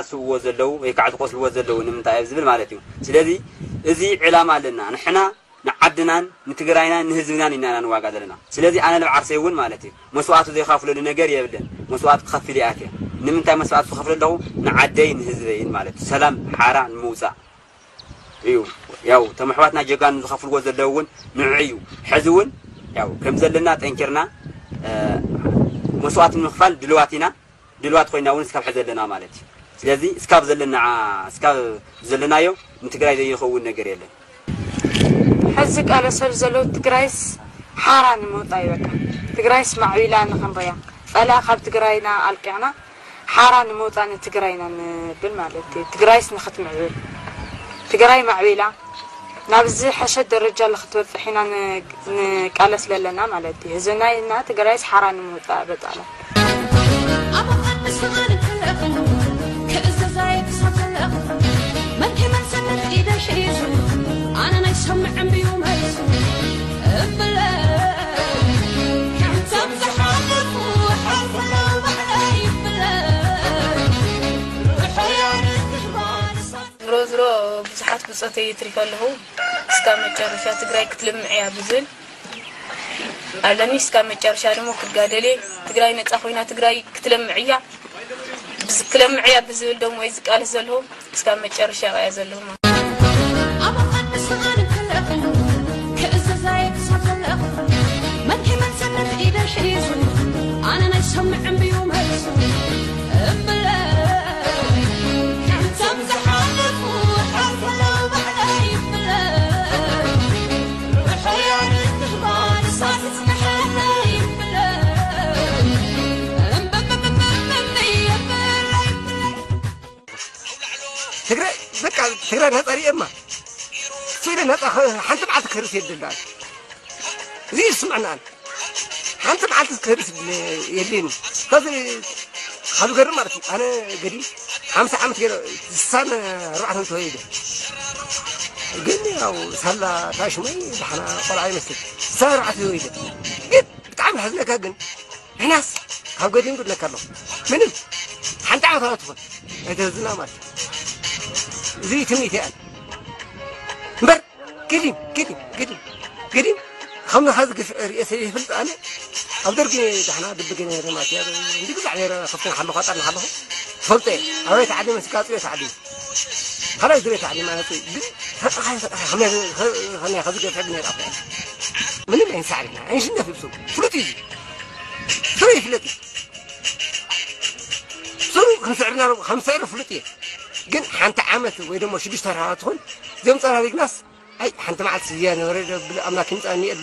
ዝስውዎ ዘለዉ ወይ ከዓ ዝቆስልዎ ዘለዉ ንምንታይ እዮም ዝብል ማለት እዩ። ስለዚ እዚ ዕላማ ኣለና። ንሕና ንዓድናን ንትግራይናን ንህዝብናን ኢና ንዋጋ ዘለና። ስለዚ ኣነ ንብዓርሰይ እውን ማለት እዩ መስዋእቲ ዘይኸፍለሉ ነገር የብለን። መስዋእቲ ክኸፍል ይኣትየ። ንምንታይ መስዋእቲ ዝኸፍል ኣለኹ? ንዓደይ ንህዝበይን ማለት እዩ። ሰላም ሓራ ንምውፃእ እዩ። ያው ተመሕዋትና ጀጋኑ ዝኸፍልዎ ዘለዉ እውን ንዑ እዩ። ሕዚ እውን ያው ከም ዘለና ጠንኪርና መስዋእቲ ንምኽፋል ድልዋት ኢና። ድልዋት ኮይና እውን እስካብ ሕዚ ዘለና ማለት እዩ። ስለዚ እስካብ ዘለና እስካብ ዘለናዮ ንትግራይ ዘይኸውን ነገር የለን። ሕዚ ቃለሰል ዘሎ ትግራይስ ሓራ ንምውፃእ እዩ። በቃ ትግራይስ ማዕቢላ ንክንሪያ ፃላ ካብ ትግራይና ኣልቂዕና ሓራ ንምውፃእ ንትግራይና ንብል ማለት እዩ። ትግራይስ ንክትምዕብል ትግራይ ማዕቢላ ናብ ዝሐሸ ደረጃ ንክትበፅሕ ኢና ንቃለስ ዘለና ማለት እዩ። ህዝብና ኢልና ትግራይስ ሓራ ንምውፃእ በፃላ ዝሮ ዝሮ ብዙሓት ብፆተይ ይትሪፈ ኣለኹ። እስካብ መጨረሻ ትግራይ ክትልምዕ እያ ብዝብል ኣለኒ። እስካብ መጨረሻ ደሞ ክጋደል እየ። ትግራይ ነፃ ኮይና ትግራይ ክትለምዕ እያ። ክለምዕ እያ ብዝብል ደሞ እየ ዝቃለስ ዘለኹ። እስካብ መጨረሻ እያ ዘለኹ። ትግራይ በቃ ትግራይ ነፃ ሪኤማ ስለ ነፃ ሓንቲ መዓልቲ ክህርስ የድልዳል እዚ ይስምዕናል ሓንቲ መዓልቲ ክህርስ የድልየኒ ከዚ ካብ ገርም ማለት እዩ ኣነ ገዲ ሓምሳ ዓመት ገይረ ስሳን ኣርባዕተን ተወሊደ ግን ያው ሳላ ታሽመይ ዳሕና ቆልዓ ይመስል ስሳን ኣርባዕተ ተወሊደ ግን ብጣዕሚ ዝሓዝነካ ግን ንሕናስ ካብ ገዲም ግድለካ ኣለኹ ምንም ሓንቲ ዓመት ኣላ ትኾን ኣይተህዝና ማለት እዩ እዚ ትምኒት እያ እምበር ግዲም ግዲም ግዲም ግዲም ከም ንኻ ዝግፍዕ ርእየ ስለ ይፈልጥ ኣነ ኣብ ደርጊ ዳሕና ድብገ ነይረ ማለት እዩ እንዲ ግዛዕ ነይረ ከፍትን ሓለኹ ኣጣር ንሓለኹ ትፈልጦ እየ ኣበይ ተዓሊመ ስጋፅ እየ ተዓሊመ ካልኣይ ዝርየ ተዓሊመ ኣነፅ ግን ፈጣኻ ፈጣኻ ከመይ ከዝገፍዕ ብነይረ ኣኹ ምንም ኣይንሳዕርና ኣይንሽነፍ ይብሱ ፍሉጥ እዩ ስሩ ይፍለጥ እዩ ስሩ ክንስዕርና ከምስዕር ፍሉጥ እየ ግን ሓንቲ ዓመት ወይ ደሞ ሽዱሽተ ወርሃ ትኹን እዚኦም ፀራሪግናስ ኣይ ሓንቲ መዓልቲ ዝያ ነበረ ብል ኣምላክ ይምፃኒ እየ